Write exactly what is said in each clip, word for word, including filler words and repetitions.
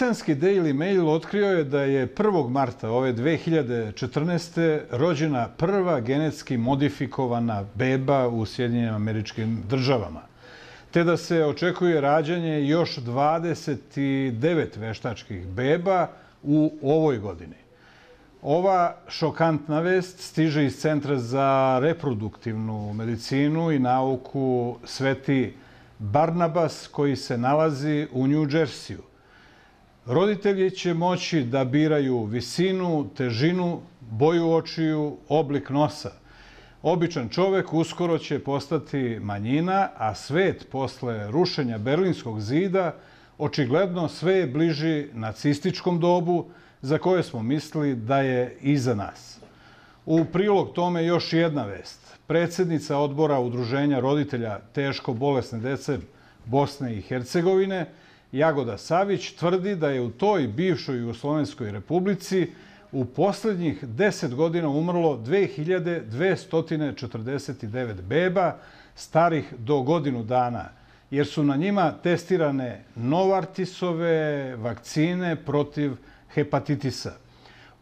Britanski Daily Mail otkrio je da je prvog marta ove dve hiljade četrnaeste. rođena prva genetski modifikovana beba u Sjedinjenim Američkim Državama, te da se očekuje rađanje još dvadeset devet veštačkih beba u ovoj godini. Ova šokantna vest stiže iz Centra za reproduktivnu medicinu i nauku Sveti Barnabas, koji se nalazi u New Jersiju. Roditelji će moći da biraju visinu, težinu, boju očiju, oblik nosa. Običan čovek uskoro će postati manjina, a svet posle rušenja Berlinskog zida očigledno sve je bliži nacističkom dobu za koje smo mislili da je iza nas. U prilog tome još jedna vest. Predsednica odbora Udruženja roditelja teško bolesne dece Bosne i Hercegovine, Jagoda Savić, tvrdi da je u toj bivšoj Jugoslovenskoj republici u poslednjih deset godina umrlo dve hiljade dvesta četrdeset devet beba starih do godinu dana, jer su na njima testirane Novartisove vakcine protiv hepatitisa.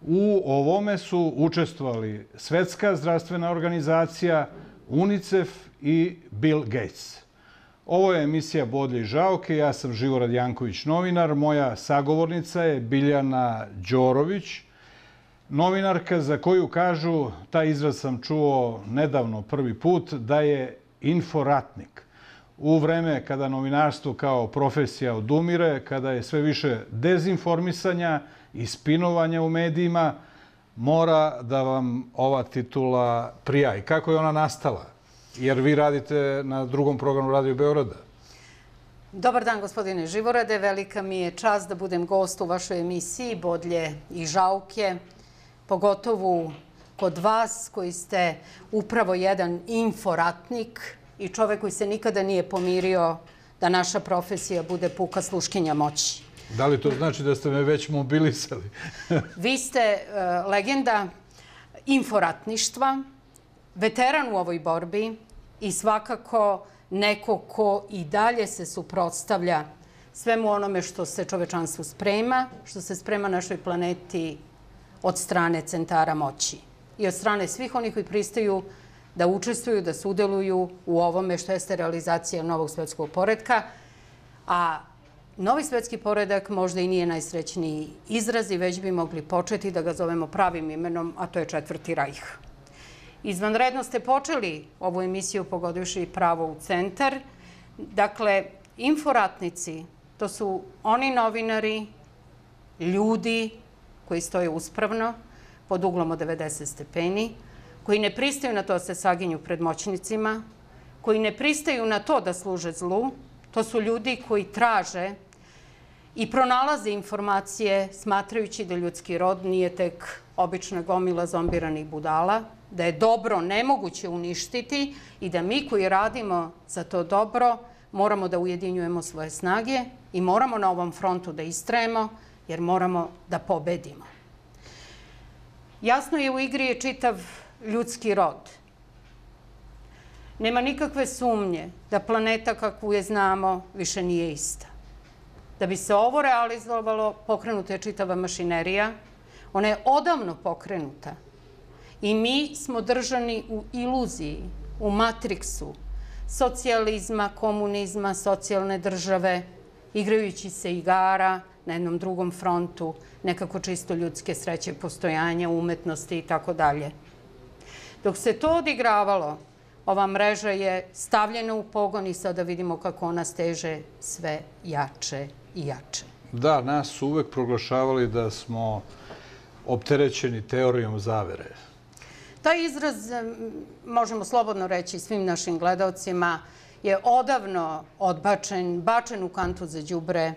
U ovome su učestvovali Svetska zdravstvena organizacija, UNICEF i Bill Gates. Ovo je emisija Bodlje i žaoke. Ja sam Živorad Janković, novinar. Moja sagovornica je Biljana Đorović, novinarka za koju kažu, taj izraz sam čuo nedavno prvi put, da je inforatnik. U vreme kada novinarstvo kao profesija odumire, kada je sve više dezinformisanja i spinovanja u medijima, mora da vam ova titula prija. I kako je ona nastala? Jer vi radite na drugom programu Radio Beograda. Dobar dan, gospodine Živorade. Velika mi je čast da budem gost u vašoj emisiji Bodlje i žauke, pogotovo kod vas koji ste upravo jedan inforatnik i čovek koji se nikada nije pomirio da naša profesija bude puka sluškinja moći. Da li to znači da ste me već mobilisali? Vi ste legenda inforatništva, veteran u ovoj borbi i svakako neko ko i dalje se suprotstavlja svemu onome što se čovečanstvu sprema, što se sprema našoj planeti od strane centara moći i od strane svih onih koji pristaju da učestvuju, da sudeluju u ovome što jeste realizacija novog svetskog poretka. A novi svetski poredak možda i nije najsrećniji izraz i već bi mogli početi da ga zovemo pravim imenom, a to je Četvrti rajh. Izvanredno ste počeli ovu emisiju pogodivši pravo u centar. Dakle, inforatnici, to su oni novinari, ljudi koji stoje uspravno pod uglom od devedeset stepeni, koji ne pristaju na to da se saginju pred moćnicima, koji ne pristaju na to da služe zlu. To su ljudi koji traže i pronalaze informacije smatrajući da ljudski rod nije tek obična gomila zombiranih budala, da je dobro nemoguće uništiti i da mi koji radimo za to dobro moramo da ujedinjujemo svoje snage i moramo na ovom frontu da istrajemo jer moramo da pobedimo. Jasno je, u igri je čitav ljudski rod. Nema nikakve sumnje da planeta kakvu je znamo više nije ista. Da bi se ovo realizovalo, pokrenuta je čitava mašinerija. Ona je odavno pokrenuta. I mi smo držani u iluziji, u matriksu socijalizma, komunizma, socijalne države, igrajući se igara na jednom drugom frontu, nekako čisto ljudske sreće, postojanja, umetnosti i tako dalje. Dok se to odigravalo, ova mreža je stavljena u pogon i sada vidimo kako ona steže sve jače i jače. Da, nas su uvek proglašavali da smo opterećeni teorijom zavere. Taj izraz, možemo slobodno reći svim našim gledalcima, je odavno odbačen, bačen u kantu za đubre,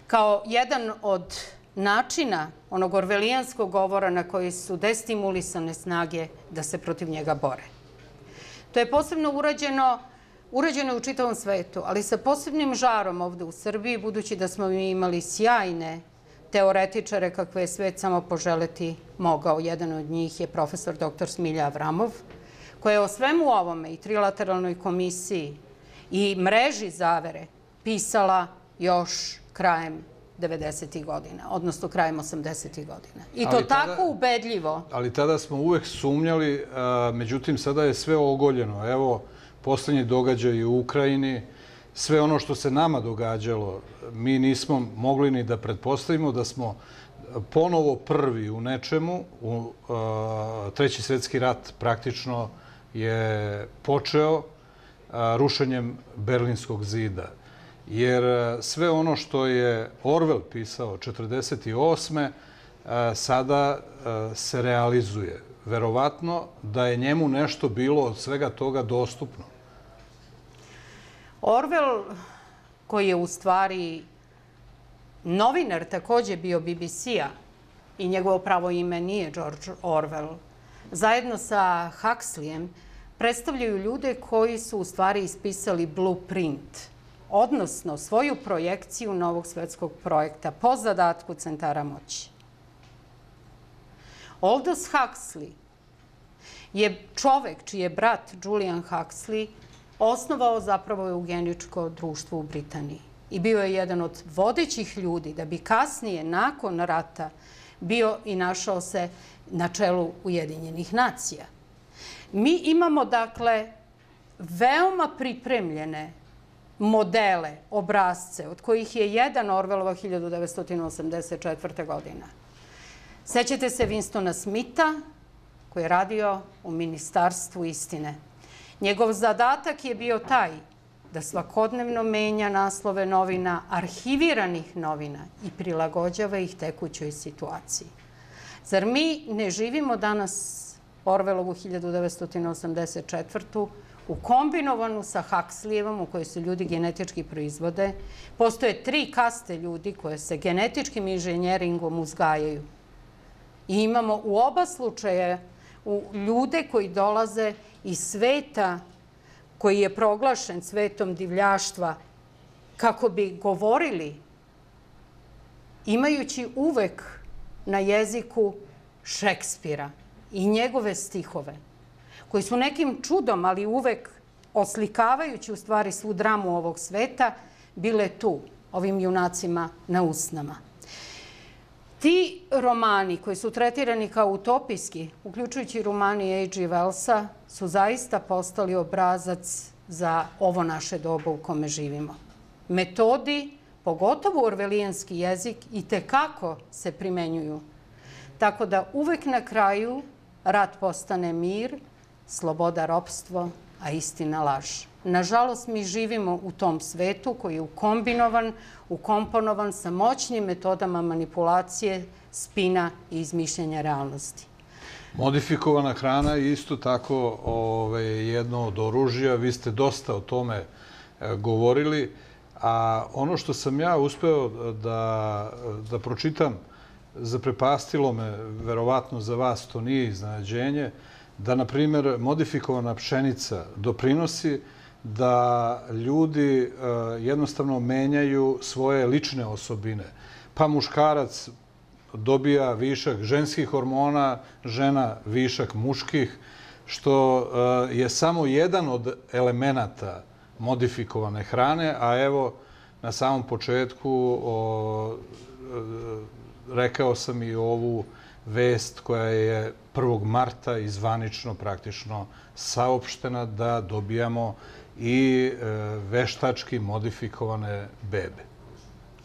kao jedan od načina onog orvelijanskog govora na koji su destimulisane snage da se protiv njega bore. To je posebno urađeno, urađeno u čitavom svetu, ali sa posebnim žarom ovde u Srbiji, budući da smo mi imali sjajne teoretičare kakve je svet samo poželeti mogao. Jedan od njih je profesor doktor Smilja Avramov, koja je o svemu ovome i trilateralnoj komisiji i mreži zavere pisala još krajem devedesetih godina, odnosno krajem osamdesetih godina. I to tako ubedljivo. Ali tada smo uvek sumnjali, međutim sada je sve ogoljeno. Evo, poslednji događaj u Ukrajini, sve ono što se nama događalo, mi nismo mogli ni da pretpostavimo da smo ponovo prvi u nečemu. Treći svjetski rat praktično je počeo rušenjem Berlinskog zida. Jer sve ono što je Orwell pisao četrdeset osme sada se realizuje. Verovatno da je njemu nešto bilo od svega toga dostupno. Orwell, koji je u stvari novinar, takođe bio B B C-a, i njegovo pravo ime nije George Orwell, zajedno sa Huxleyem predstavljaju ljude koji su u stvari ispisali blueprint, odnosno svoju projekciju novog svetskog projekta po zadatku centara moći. Aldous Huxley je čovek čiji je brat Julian Huxley osnovao zapravo eugeničko društvo u Britaniji i bio je jedan od vodećih ljudi da bi kasnije, nakon rata, bio i našao se na čelu Ujedinjenih nacija. Mi imamo, dakle, veoma pripremljene modele, obrazce, od kojih je jedan Orwellova hiljadu devetsto osamdeset četvrte. godina. Sećate se Winstona Smitha, koji je radio u Ministarstvu istine. Njegov zadatak je bio taj da svakodnevno menja naslove novina, arhiviranih novina i prilagođava ih tekućoj situaciji. Zar mi ne živimo danas Orwellovu hiljadu devetsto osamdeset četvrtu ukombinovanu sa Huxleyevom, u kojoj se ljudi genetički proizvode? Postoje tri kaste ljudi koje se genetičkim inženjeringom uzgajaju. I imamo u oba slučaja ljude koji dolaze iz sveta koji je proglašen svetom divljaštva kako bi govorili, imajući uvek na jeziku Šekspira i njegove stihove, koji su nekim čudom, ali uvek oslikavajući u stvari svu dramu ovog sveta, bile tu, ovim junacima na usnama. Ti romani koji su tretirani kao utopijski, uključujući romani H G Wellsa, su zaista postali obrazac za ovo naše doba u kome živimo. Metodi, pogotovo orvelijanski jezik, i tekako se primenjuju. Tako da uvek na kraju rat postane mir, sloboda ropstvo, a istina laž. Nažalost, mi živimo u tom svetu koji je ukombinovan, ukomponovan sa moćnim metodama manipulacije, spina i izmišljanja realnosti. Modifikovana hrana je isto tako jedno od oružja. Vi ste dosta o tome govorili, a ono što sam ja uspeo da pročitam, zaprepastilo me, verovatno za vas to nije iznenađenje, da, na primjer, modifikovana pšenica doprinosi da ljudi jednostavno menjaju svoje lične osobine. Pa muškarac dobija višak ženskih hormona, žena višak muških, što je samo jedan od elemenata modifikovane hrane, a evo, na samom početku rekao sam i ovu vest koja je prvog marta i zvanično praktično saopštena da dobijamo i veštački modifikovane bebe.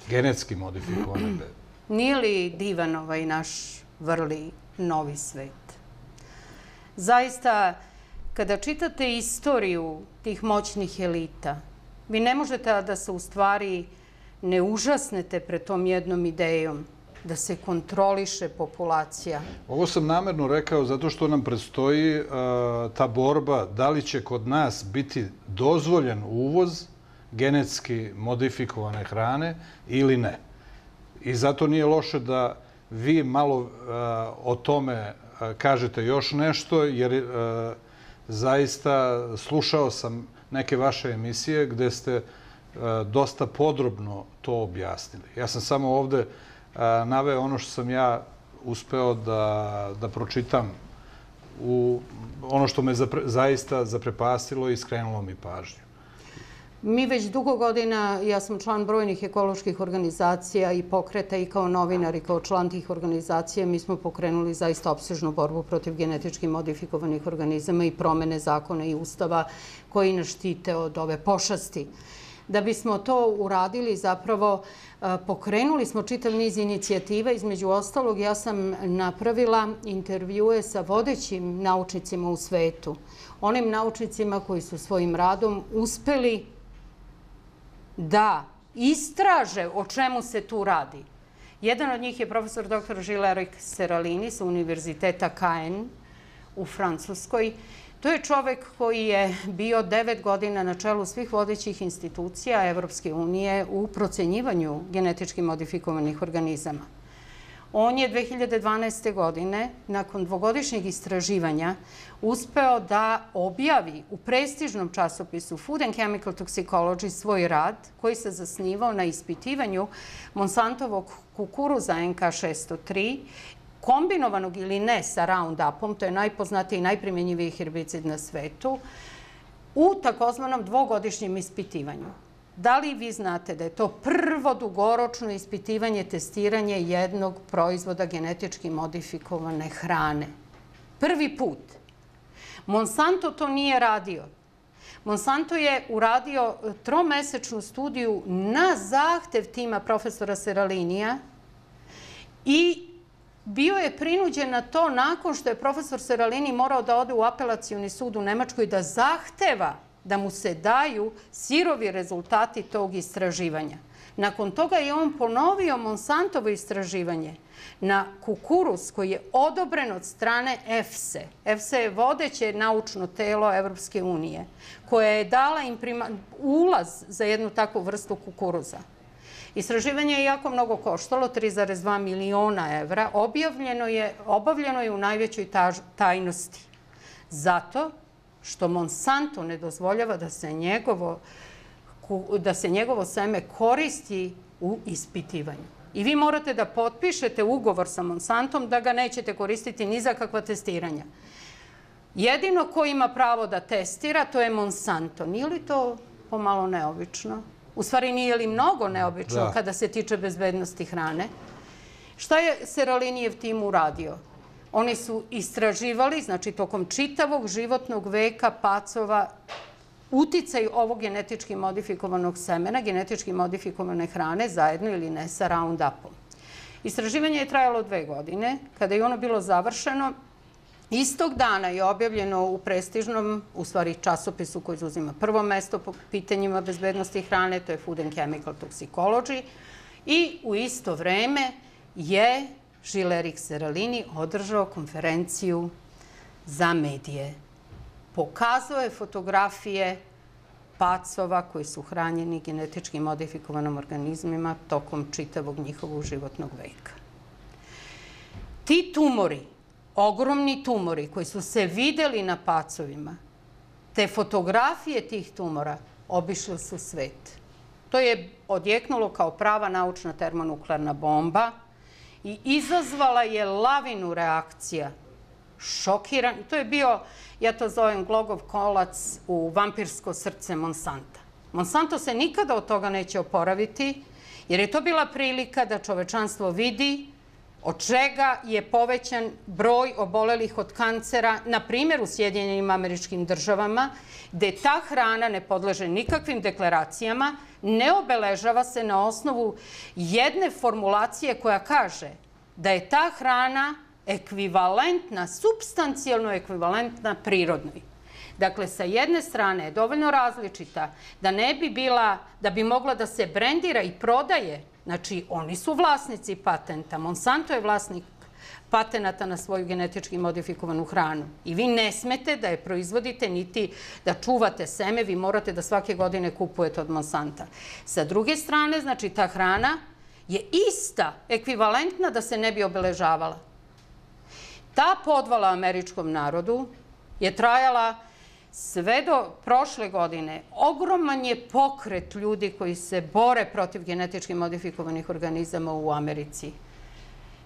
Genetski modifikovane bebe. Nije li divan ovaj naš vrli novi svet? Zaista, kada čitate istoriju tih moćnih elita, vi ne možete da se u stvari ne užasnete pred tom jednom idejom da se kontroliše populacija. Ovo sam namerno rekao zato što nam predstoji ta borba da li će kod nas biti dozvoljen uvoz genetski modifikovane hrane ili ne. I zato nije loše da vi malo o tome kažete još nešto, jer zaista slušao sam neke vaše emisije gde ste dosta podrobno to objasnili. Ja sam samo ovde naveo ono što sam ja uspeo da pročitam, ono što me zaista zaprepastilo i skrenulo mi pažnju. Mi već dugo godina, ja sam član brojnih ekoloških organizacija i pokreta i kao novinar i kao član tih organizacija, mi smo pokrenuli zaista opsežnu borbu protiv genetički modifikovanih organizama i promene zakona i ustava koji nas štite od ove pošasti. Da bismo to uradili, zapravo pokrenuli smo čitav niz inicijativa. Između ostalog, ja sam napravila intervjue sa vodećim naučnicima u svetu. Onim naučnicima koji su svojim radom uspeli da istraže o čemu se tu radi. Jedan od njih je profesor doktor Gilles-Éric Seralini sa Univerziteta Caen u Francuskoj. To je čovek koji je bio devet godina na čelu svih vodećih institucija Evropske unije u procenjivanju genetički modifikovanih organizama. On je dve hiljade dvanaeste. godine, nakon dvogodišnjeg istraživanja, uspeo da objavi u prestižnom časopisu Food and Chemical Toxicology svoj rad koji se zasnivao na ispitivanju Monsantovog kukuruza N K šesto tri, kombinovanog ili ne sa Roundupom, to je najpoznatiji i najprimjenjiviji herbicid na svetu, u takozvanom dvogodišnjem ispitivanju. Da li vi znate da je to prvo dugoročno ispitivanje, testiranje jednog proizvoda genetički modifikovane hrane? Prvi put. Monsanto to nije radio. Monsanto je uradio tromesečnu studiju na zahtev tima profesora Seralinija i bio je prinuđen na to nakon što je profesor Seralini morao da ode u apelacioni sud u Nemačkoj da zahteva da mu se daju sirovi rezultati tog istraživanja. Nakon toga je on ponovio Monsantovo istraživanje na kukuruz koji je odobren od strane EFSE. EFSE je vodeće naučno telo Evropske unije koja je dala im ulaz za jednu takvu vrstu kukuruza. Istraživanje je jako mnogo koštalo, tri zarez dva miliona evra, objavljeno je, obavljeno je u najvećoj tajnosti. Zato što Monsanto ne dozvoljava da se njegovo, da se njegovo seme koristi u ispitivanju. I vi morate da potpišete ugovor sa Monsantom da ga nećete koristiti ni za kakva testiranja. Jedino ko ima pravo da testira, to je Monsanto. Nije li to pomalo neobično? U stvari, nije li mnogo neobično kada se tiče bezbednosti hrane? Šta je Seralinijev tim uradio? Oni su istraživali, znači tokom čitavog životnog veka pacova, uticaj ovog genetički modifikovanog semena, genetički modifikovane hrane, zajedno ili ne, sa Roundupom. Istraživanje je trajalo dve godine. Kada je ono bilo završeno, istog dana je objavljeno u prestižnom, u stvari časopisu koji zauzima prvo mesto po pitanjima bezbednosti hrane, to je Food and Chemical Toxicology, i u isto vreme je Gilles-Éric Seralini održao konferenciju za medije. Pokazao je fotografije pacova koji su hranjeni genetički modifikovanim organizmima tokom čitavog njihovog životnog veka. Ti tumori, ogromni tumori koji su se videli na pacovima, te fotografije tih tumora obišle su svet. To je odjeknulo kao prava naučna termonuklearna bomba i izazvala je lavinu reakcija. Šokiran. To je bio, ja to zovem glogov kolac u vampirsko srce Monsanta. Monsanto se nikada od toga neće oporaviti, jer je to bila prilika da čovečanstvo vidi od čega je povećan broj obolelih od kancera, na primjer u Sjedinjenim Američkim Državama, gde ta hrana ne podleže nikakvim deklaracijama, ne obeležava se na osnovu jedne formulacije koja kaže da je ta hrana ekvivalentna, supstancijalno ekvivalentna prirodnoj. Dakle, sa jedne strane je dovoljno različita da ne bi bila, da bi mogla da se brendira i prodaje. Znači, oni su vlasnici patenta. Monsanto je vlasnik patenata na svoju genetički modifikovanu hranu. I vi ne smete da je proizvodite niti da čuvate seme, vi morate da svake godine kupujete od Monsanta. Sa druge strane, znači, ta hrana je ista, ekvivalentna da se ne bi obeležavala. Ta podvala američkom narodu je trajala sve do prošle godine. Ogroman je pokret ljudi koji se bore protiv genetički modifikovanih organizama u Americi.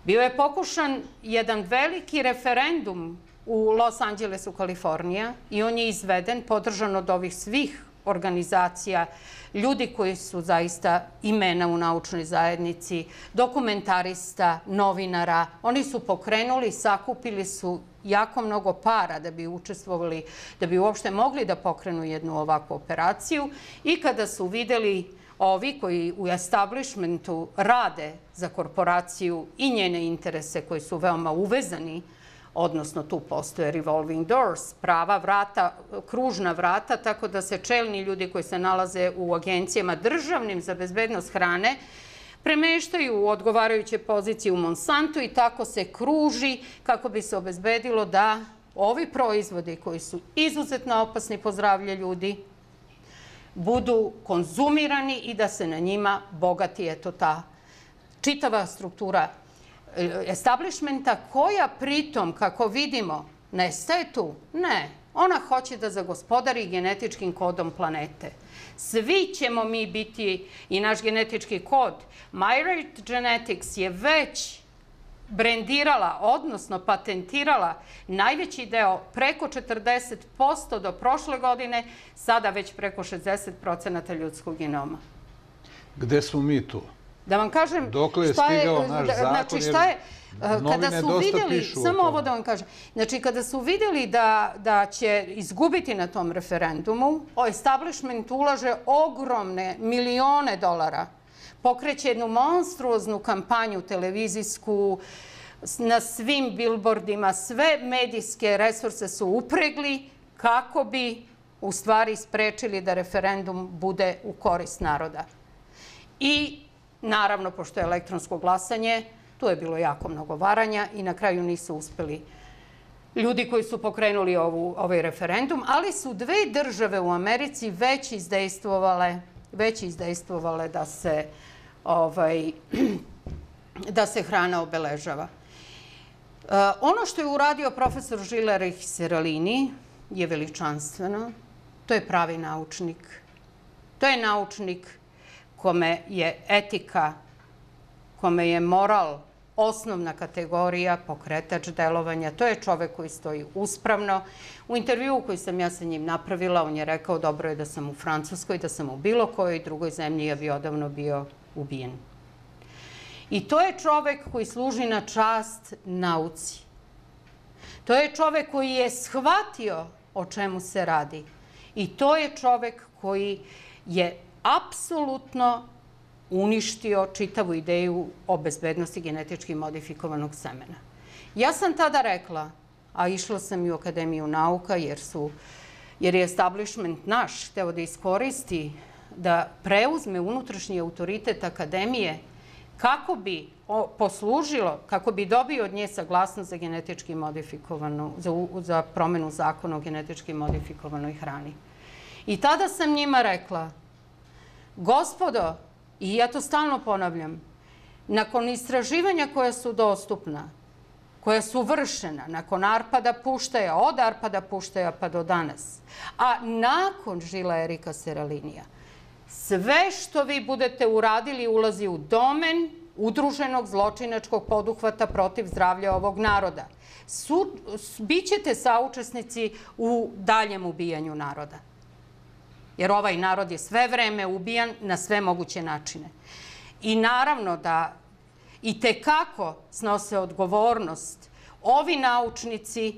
Bio je pokušan jedan veliki referendum u Los Angelesu, Kalifornija, i on je izveden, podržan od ovih svih organizacija, ljudi koji su zaista imena u naučnoj zajednici, dokumentarista, novinara. Oni su pokrenuli, sakupili su jako mnogo para da bi učestvovali, da bi uopšte mogli da pokrenu jednu ovakvu operaciju. I kada su videli ovi koji u establishmentu rade za korporaciju i njene interese koji su veoma uvezani, odnosno tu postoje revolving doors, prava vrata, kružna vrata, tako da se čelni ljudi koji se nalaze u agencijama državnim za bezbednost hrane premeštaju u odgovarajuće pozicije u Monsantu i tako se kruži kako bi se obezbedilo da ovi proizvodi koji su izuzetno opasni po zdravlje ljudi budu konzumirani i da se na njima bogati eto ta čitava struktura establishmenta koja pritom, kako vidimo, nestaje tu. Ne, ona hoće da zagospodari genetičkim kodom planete. Svi ćemo mi biti i naš genetički kod. MyRate Genetics je već brendirala, odnosno patentirala najveći deo, preko četrdeset posto do prošle godine, sada već preko šezdeset procenata ljudskog genoma. Gde smo mi tu? Da vam kažem, dokle je stigao naš zakon, znači šta je, kada su vidjeli, samo ovo da vam kažem, znači kada su vidjeli da, da će izgubiti na tom referendumu, establishment ulaže ogromne milione dolara, pokreće jednu monstruoznu kampanju televizijsku, na svim billboardima, sve medijske resurse su upregli kako bi u stvari sprečili da referendum bude u korist naroda. I naravno, pošto je elektronsko glasanje, tu je bilo jako mnogo varanja i na kraju nisu uspeli ljudi koji su pokrenuli ovu, ovaj referendum, ali su dve države u Americi već izdejstvovale, već izdejstvovale da se, ovaj, da se hrana obeležava. Uh, ono što je uradio profesor Žilerich Seralini je veličanstveno. To je pravi naučnik. To je naučnik kome je etika, kome je moral osnovna kategorija, pokretač delovanja. To je čovek koji stoji uspravno. U intervjuu koji sam ja sa njim napravila, on je rekao dobro je da sam u Francuskoj, da sam u bilo kojoj drugoj zemlji, ja bi odavno bio ubijen. I to je čovek koji služi na čast nauci. To je čovek koji je shvatio o čemu se radi. I to je čovek koji je apsolutno uništio čitavu ideju o bezbednosti genetički modifikovanog semena. Ja sam tada rekla, a išla sam i u Akademiju nauka, jer, su, jer je establishment naš hteo da iskoristi, da preuzme unutrašnji autoritet Akademije kako bi poslužilo, kako bi dobio od nje saglasnost za genetički modifikovanu, za, za promenu zakona o genetički modifikovanoj hrani. I tada sam njima rekla, gospodo, i ja to stalno ponavljam, nakon istraživanja koja su dostupna, koja su vršena, nakon Arpada Puštaja, od Arpada Puštaja pa do danas, a nakon žila Erika Seralinija, sve što vi budete uradili ulazi u domen udruženog zločinačkog poduhvata protiv zdravlja ovog naroda. Su, bićete saučesnici u daljem ubijanju naroda. Jer ovaj narod je sve vreme ubijan na sve moguće načine. I naravno da i tekako snose odgovornost ovi naučnici,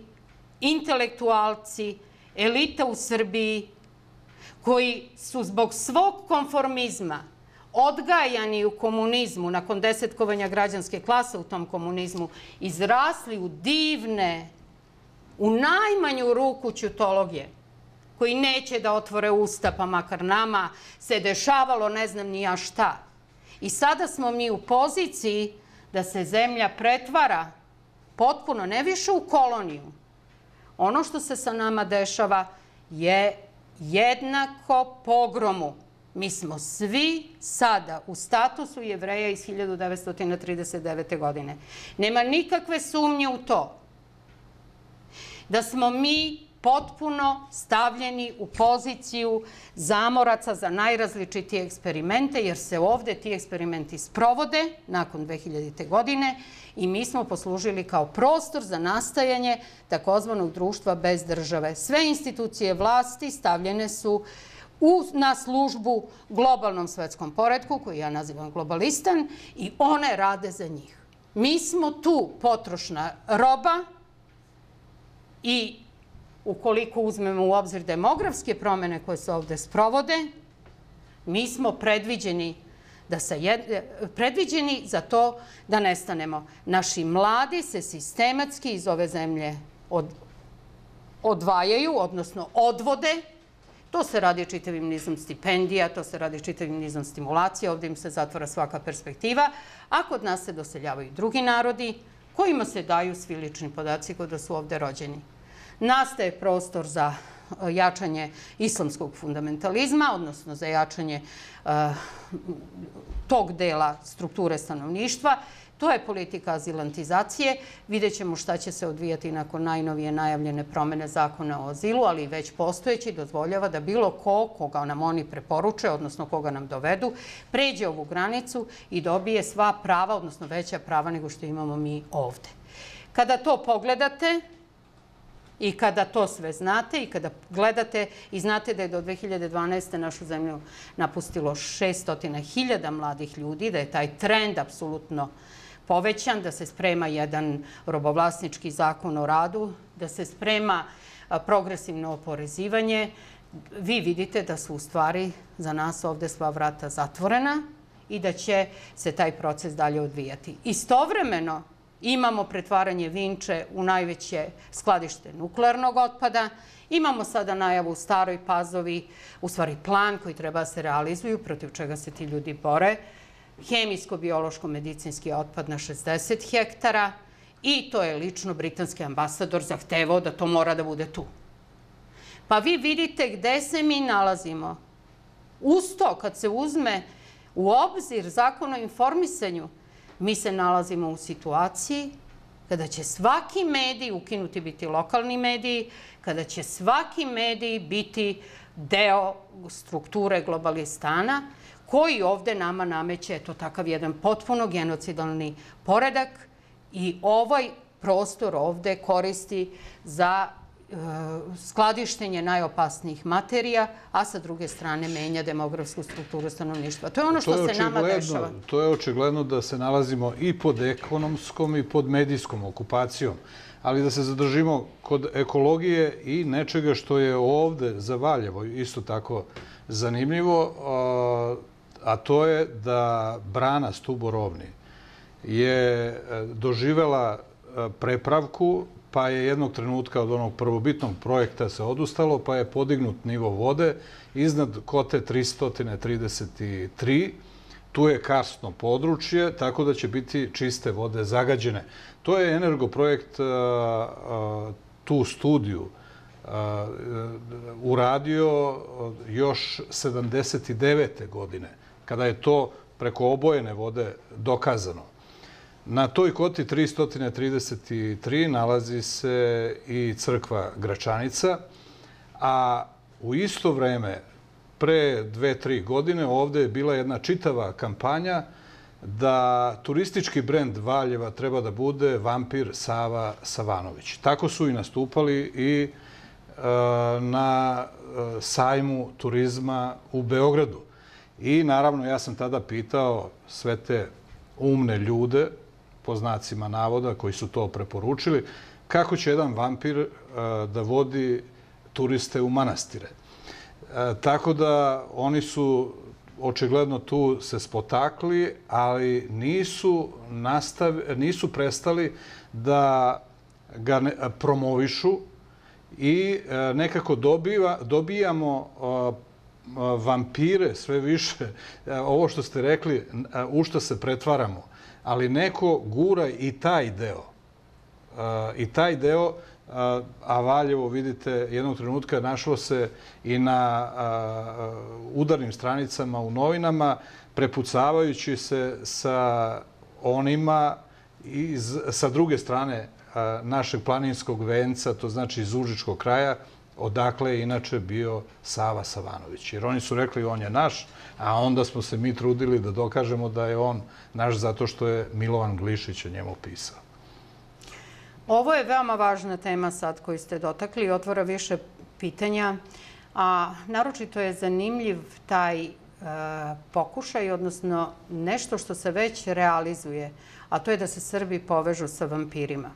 intelektualci, elita u Srbiji, koji su zbog svog konformizma odgajani u komunizmu, nakon desetkovanja građanske klase u tom komunizmu, izrasli u divne, u najmanju ruku ćutologije, koji neće da otvore usta, pa makar nama se dešavalo ne znam ni ja šta. I sada smo mi u poziciji da se zemlja pretvara potpuno, ne više u koloniju. Ono što se sa nama dešava je jednako pogromu. Mi smo svi sada u statusu Jevreja iz hiljadu devetsto trideset devete. godine. Nema nikakve sumnje u to da smo mi potpuno stavljeni u poziciju zamoraca za najrazličitije eksperimente, jer se ovde ti eksperimenti sprovode nakon dve hiljadite. godine i mi smo poslužili kao prostor za nastajanje takozvanog društva bez države. Sve institucije vlasti stavljene su na službu globalnom svetskom poretku, koji ja nazivam globalistan, i one rade za njih. Mi smo tu potrošna roba i ukoliko uzmemo u obzir demografske promene koje se ovde sprovode, mi smo predviđeni da se predviđeni za to da nestanemo. Naši mladi se sistematski iz ove zemlje od, odvajaju, odnosno odvode. To se radi čitavim nizom stipendija, to se radi čitavim nizom stimulacija, ovde im se zatvara svaka perspektiva, a kod nas se doseljavaju drugi narodi kojima se daju svi lični podaci kod da su ovde rođeni. Nastaje prostor za jačanje islamskog fundamentalizma, odnosno za jačanje uh, tog dela strukture stanovništva. To je politika azilantizacije. Vidjet ćemo šta će se odvijati nakon najnovije najavljene promene zakona o azilu, ali već postojeći dozvoljava da bilo ko, koga nam oni preporuče, odnosno koga nam dovedu, pređe ovu granicu i dobije sva prava, odnosno veća prava nego što imamo mi ovde. Kada to pogledate, i kada to sve znate i kada gledate i znate da je do dve hiljade dvanaeste. našu zemlju napustilo šesto hiljada mladih ljudi, da je taj trend apsolutno povećan, da se sprema jedan robovlasnički zakon o radu, da se sprema progresivno oporezivanje, vi vidite da su u stvari za nas ovde sva vrata zatvorena i da će se taj proces dalje odvijati. Istovremeno, imamo pretvaranje Vinče u najveće skladište nuklearnog otpada. Imamo sada najavu u Staroj Pazovi, u stvari plan koji treba da se realizuju, protiv čega se ti ljudi bore. Hemijsko-biološko-medicinski otpad na šezdeset hektara i to je lično britanski ambasador zahtevao da to mora da bude tu. Pa vi vidite gde se mi nalazimo. Uz to, kad se uzme u obzir Zakon o informisanju, mi se nalazimo u situaciji kada će svaki medij ukinuti biti lokalni mediji, kada će svaki medij biti deo strukture globalistana, koji ovde nama nameće eto takav jedan potpuno genocidalni poredak i ovaj prostor ovde koristi za skladištenje najopasnijih materija, a sa druge strane menja demografsku strukturu stanovništva. To je ono što se nama dešava. To je očigledno da se nalazimo i pod ekonomskom i pod medijskom okupacijom. Ali da se zadržimo kod ekologije i nečega što je ovde za Valjevo isto tako zanimljivo, a to je da brana Stuborovni je doživela prepravku, pa je jednog trenutka od onog prvobitnog projekta se odustalo, pa je podignut nivo vode iznad kote tristo trideset tri. Tu je karstno područje, tako da će biti čiste vode zagađene. To je Energoprojekt tu studiju uradio još sedamdeset devete. godine, kada je to preko obojene vode dokazano. Na toj koti tristo trideset tri nalazi se i crkva Gračanica, a u isto vreme, pre dve, tri godine, ovde je bila jedna čitava kampanja da turistički brend Valjeva treba da bude vampir Sava Savanović. Tako su i nastupali i na sajmu turizma u Beogradu. I naravno, ja sam tada pitao sve te umne ljude, po znacima navoda, koji su to preporučili, kako će jedan vampir da vodi turiste u manastire. Tako da oni su očigledno tu se spotakli, ali nisu, nastav, nisu prestali da ga promovišu i nekako dobiva, dobijamo vampire sve više. Ovo što ste rekli, u što se pretvaramo. Ali neko gura i taj deo. I taj deo, a Valjevo, vidite, jednog trenutka našlo se i na udarnim stranicama u novinama, prepucavajući se sa onima iz, sa druge strane našeg planinskog venca, to znači iz Užičkog kraja, odakle je inače bio Sava Savanović. Jer oni su rekli on je naš, a onda smo se mi trudili da dokažemo da je on naš zato što je Milovan Glišić o njemu pisao. Ovo je veoma važna tema sad koju ste dotakli i otvara više pitanja A naročito je zanimljiv taj pokušaj, odnosno nešto što se već realizuje, a to je da se Srbi povežu sa vampirima.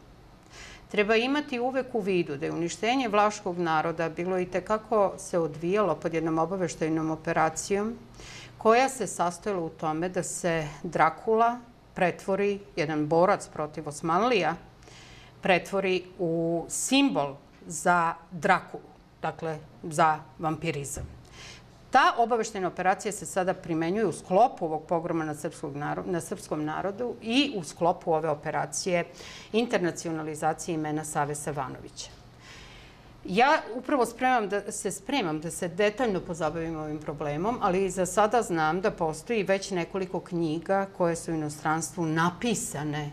Treba imati uvek u vidu da je uništenje vlaškog naroda bilo i tekako se odvijalo pod jednom obaveštajnom operacijom koja se sastojala u tome da se Drakula pretvori, jedan borac protiv Osmanlija, pretvori u simbol za Drakulu, dakle za vampirizam. Ta obaveštajna operacija se sada primenjuje u sklopu ovog pogroma na srpskom narodu i u sklopu ove operacije internacionalizacije imena Save Stevanovića. Ja upravo se spremam da se detaljno pozabavim ovim problemom, ali za sada znam da postoji već nekoliko knjiga koje su u inostranstvu napisane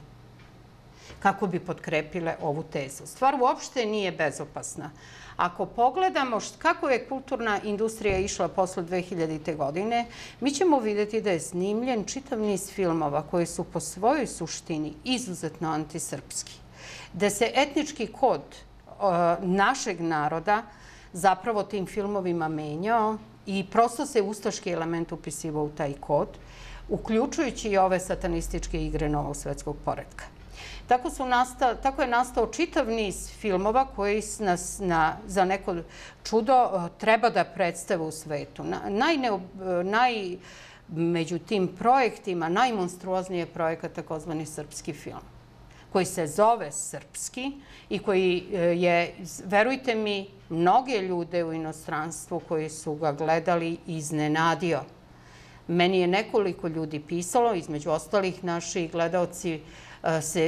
kako bi potkrepile ovu tezu. Stvar uopšte nije bezopasna. Ako pogledamo kako je kulturna industrija išla posle dve hiljadite. godine, mi ćemo vidjeti da je snimljen čitav niz filmova koji su po svojoj suštini izuzetno antisrpski. Da se etnički kod našeg naroda zapravo tim filmovima menjao i prosto se ustaški element upisivao u taj kod, uključujući i ove satanističke igre novog svetskog poretka. Tako je nastao čitav niz filmova koji nas za neko čudo treba da predstave u svetu. Među tim projektima najmonstruozniji je projekat takozvani srpski film, koji se zove Srpski i koji je, verujte mi, mnoge ljude u inostranstvu koji su ga gledali iznenadio. Meni je nekoliko ljudi pisalo, između ostalih naši gledalci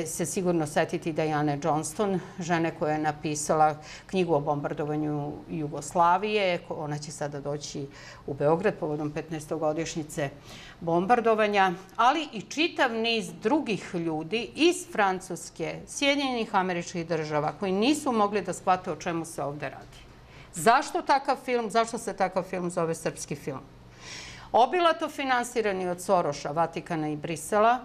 se sigurno setiti Diane Johnston, žene koja je napisala knjigu o bombardovanju Jugoslavije. Ona će sada doći u Beograd povodom petnaestogodišnjice bombardovanja, ali i čitav niz drugih ljudi iz Francuske, Sjedinjenih Američkih Država, koji nisu mogli da shvate o čemu se ovde radi. Zašto takav film? Zašto se takav film zove srpski film? Obilato finansirani od Soroša, Vatikana i Brisela,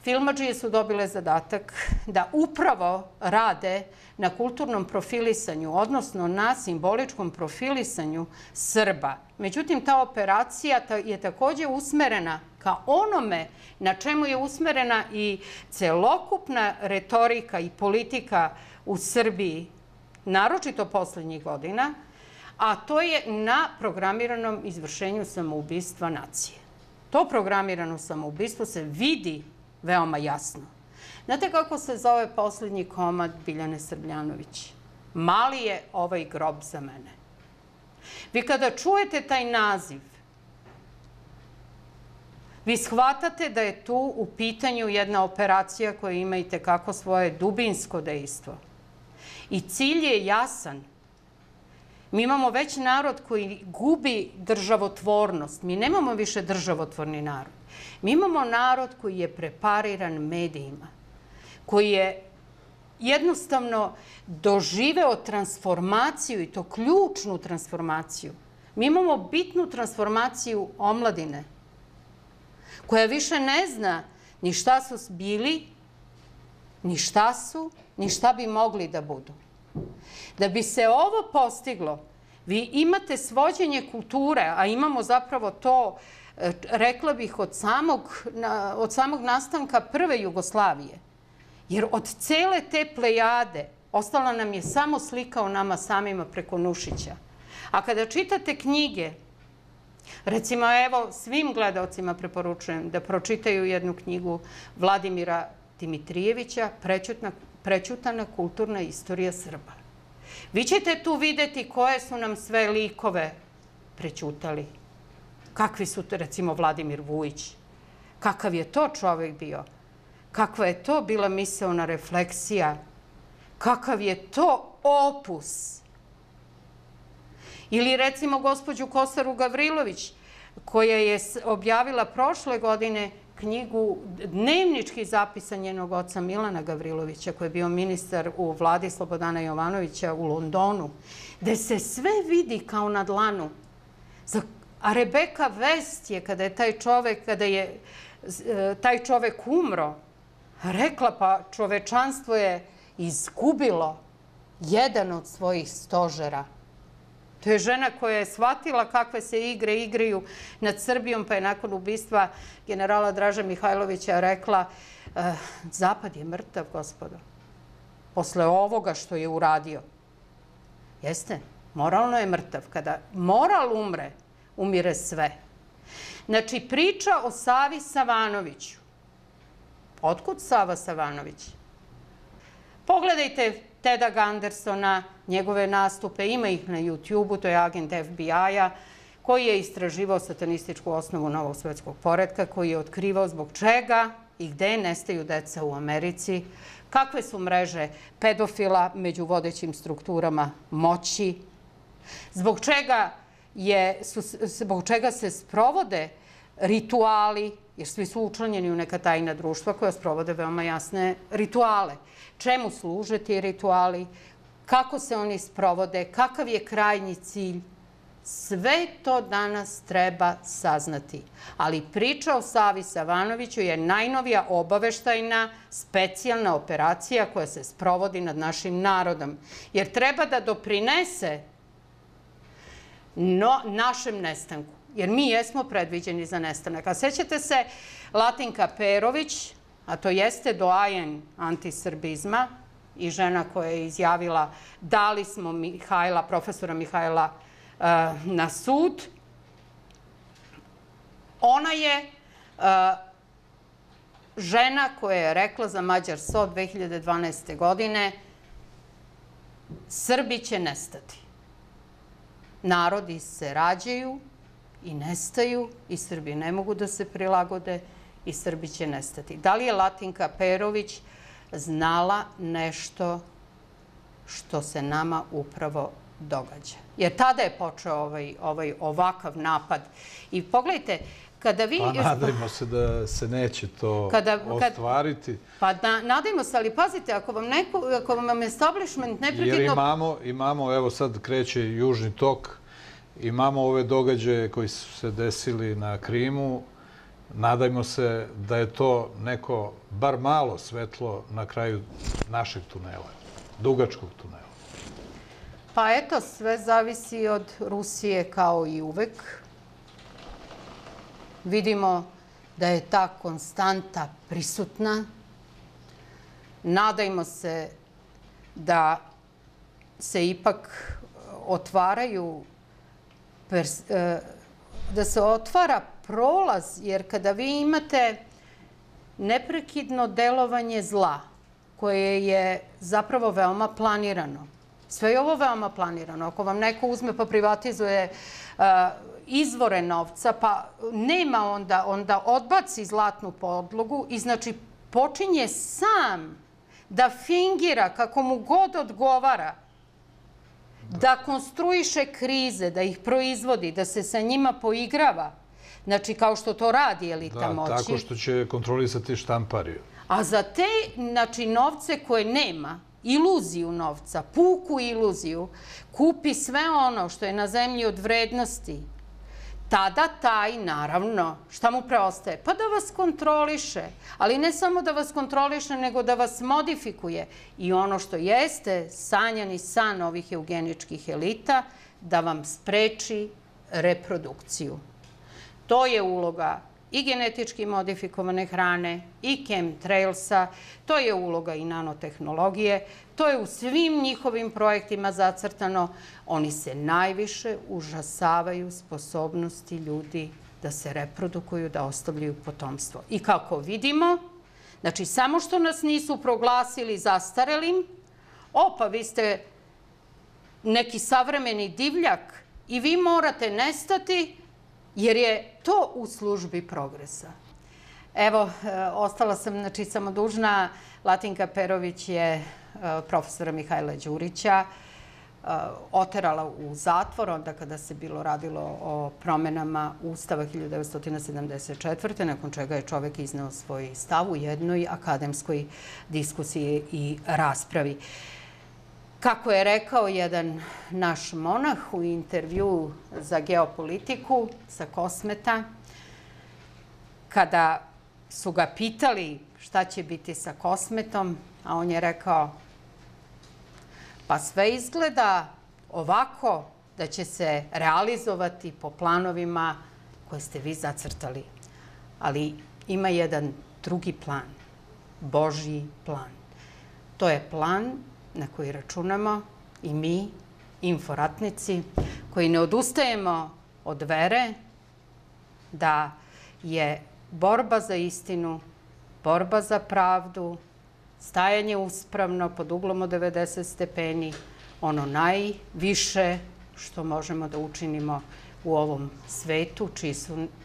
filmadžije su dobile zadatak da upravo rade na kulturnom profilisanju, odnosno na simboličkom profilisanju Srba. Međutim, ta operacija je takođe usmerena ka onome na čemu je usmerena i celokupna retorika i politika u Srbiji, naročito poslednjih godina, a to je na programiranom izvršenju samoubistva nacije. To programirano samoubistvo se vidi veoma jasno. Znate kako se zove poslednji komad Biljane Srbljanović? Mali je ovaj grob za mene. Vi kada čujete taj naziv, vi shvatate da je tu u pitanju jedna operacija koja ima i tekako svoje dubinsko dejstvo. I cilj je jasan. Mi imamo već narod koji gubi državotvornost. Mi nemamo više državotvorni narod. Mi imamo narod koji je prepariran medijima, koji je jednostavno doživeo transformaciju, i to ključnu transformaciju. Mi imamo bitnu transformaciju omladine, koja više ne zna ni šta su bili, ni šta su, ni šta bi mogli da budu. Da bi se ovo postiglo, vi imate svođenje kulture, a imamo zapravo to, rekla bih, od samog nastanka prve Jugoslavije. Jer od cele te plejade ostala nam je samo slika o nama samima preko Nušića. A kada čitate knjige, recimo, evo, svim gledalcima preporučujem da pročitaju jednu knjigu Vladimira Dimitrijevića, Prećutana kulturna istorija Srba. Vi ćete tu videti koje su nam sve likove prećutali. Kakvi su, recimo, Vladimir Vujić. Kakav je to čovek bio? Kakva je to bila misaona refleksija? Kakav je to opus? Ili, recimo, gospođu Kosaru Gavrilović, koja je objavila prošle godine knjigu Dnevnički zapisa njenog oca Milana Gavrilovića, koji je bio ministar u vladi Slobodana Jovanovića u Londonu, gde se sve vidi kao na dlanu. A Rebeka Vest je, kada je taj čovek, kada je taj čovek umro, rekla, pa čovečanstvo je izgubilo jedan od svojih stožera. To je žena koja je shvatila kakve se igre igraju nad Srbijom, pa je nakon ubistva generala Draže Mihajlovića rekla Zapad je mrtav, gospodo. Posle ovoga što je uradio. Jeste, moralno je mrtav. Kada moral umre, umire sve. Znači, priča o Savi Savanoviću. Otkud Sava Savanović? Pogledajte Teda Gandersona, njegove nastupe, ima ih na YouTube-u, to je agent F B I-a, koji je istraživao satanističku osnovu novog svetskog poretka, koji je otkrivao zbog čega i gde nestaju deca u Americi, kakve su mreže pedofila među vodećim strukturama moći, zbog čega, je, su, zbog čega se sprovode rituali, jer svi su učlanjeni u neka tajna društva koja sprovode veoma jasne rituale. Čemu služe ti rituali, kako se oni sprovode, kakav je krajnji cilj. Sve to danas treba saznati. Ali priča o Savi Savanoviću je najnovija obaveštajna specijalna operacija koja se sprovodi nad našim narodom. Jer treba da doprinese no, našem nestanku. Jer mi jesmo predviđeni za nestanak. A sećate se, Latinka Perović, a to jeste doajen antisrbizma i žena koja je izjavila dali smo Mihajla, profesora Mihajla na sud. Ona je žena koja je rekla za Mađar S O dve hiljade dvanaeste. godine Srbi će nestati. Narodi se rađaju i nestaju i Srbi ne mogu da se prilagode i Srbi će nestati. Da li je Latinka Perović znala nešto što se nama upravo događa? Jer tada je počeo ovaj, ovaj ovakav napad. I pogledajte, kada vi... Pa nadajmo se da se neće to kada, ostvariti. Pa na, nadajmo se, ali pazite, ako vam, neko, ako vam establishment neprekidno... Jer imamo, imamo, evo sad kreće Južni tok, imamo ove događaje koji su se desili na Krimu. Nadajmo se da je to neko, bar malo svetlo na kraju našeg tunela, dugačkog tunela. Pa eto, sve zavisi od Rusije kao i uvek. Vidimo da je ta konstanta prisutna. Nadajmo se da se ipak otvaraju, da se otvara prolaz, jer kada vi imate neprekidno delovanje zla, koje je zapravo veoma planirano, sve je ovo veoma planirano. Ako vam neko uzme pa privatizuje izvore novca, pa nema onda, onda odbaci zlatnu podlogu i znači počinje sam da fingira kako mu god odgovara, da konstruiše krize, da ih proizvodi, da se sa njima poigrava. Znači, kao što to radi elita moći. Da, tako što će kontrolisati štampariju. A za te, znači, novce koje nema, iluziju novca, puku iluziju, kupi sve ono što je na zemlji od vrednosti, tada taj, naravno, šta mu preostaje? Pa da vas kontroliše. Ali ne samo da vas kontroliše, nego da vas modifikuje. I ono što jeste sanjani san ovih eugeničkih elita, da vam spreči reprodukciju. To je uloga i genetički modifikovane hrane, i chemtrailsa, to je uloga i nanotehnologije, to je u svim njihovim projektima zacrtano. Oni se najviše užasavaju sposobnosti ljudi da se reprodukuju, da ostavljaju potomstvo. I kako vidimo, znači samo što nas nisu proglasili zastarelim, o pa vi ste neki savremeni divljak i vi morate nestati, jer je to u službi progresa. Evo, ostala sam, znači, samo dužna. Latinka Perović je profesora Mihajla Đurića oterala u zatvor, onda kada se bilo radilo o promenama Ustava hiljadu devetsto sedamdeset četvrte. nakon čega je čovek izneo svoj stav u jednoj akademskoj diskusiji i raspravi. Kako je rekao jedan naš monah u intervju za Geopolitiku sa Kosmeta, kada su ga pitali šta će biti sa Kosmetom, a on je rekao, pa sve izgleda ovako da će se realizovati po planovima koje ste vi zacrtali. Ali ima jedan drugi plan, Božji plan. To je plan na koji računamo i mi, inforatnici, koji ne odustajemo od vere da je borba za istinu, borba za pravdu, stajanje uspravno pod uglom od devedeset stepeni, ono najviše što možemo da učinimo u ovom svetu,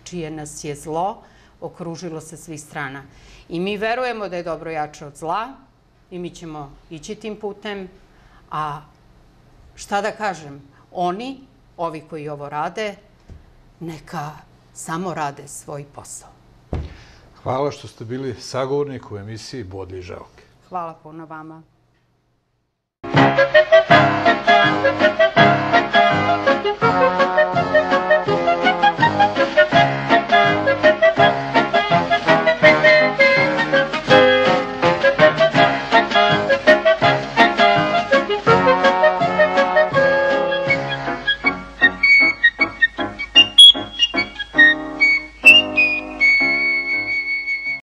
čije nas je zlo okružilo sa svih strana. I mi verujemo da je dobro jače od zla i mi ćemo ići tim putem, a šta da kažem, oni, ovi koji ovo rade, neka samo rade svoj posao. Hvala što ste bili sagovornik u emisiji Bodlje žaoke. Hvala puno vama. Thank you.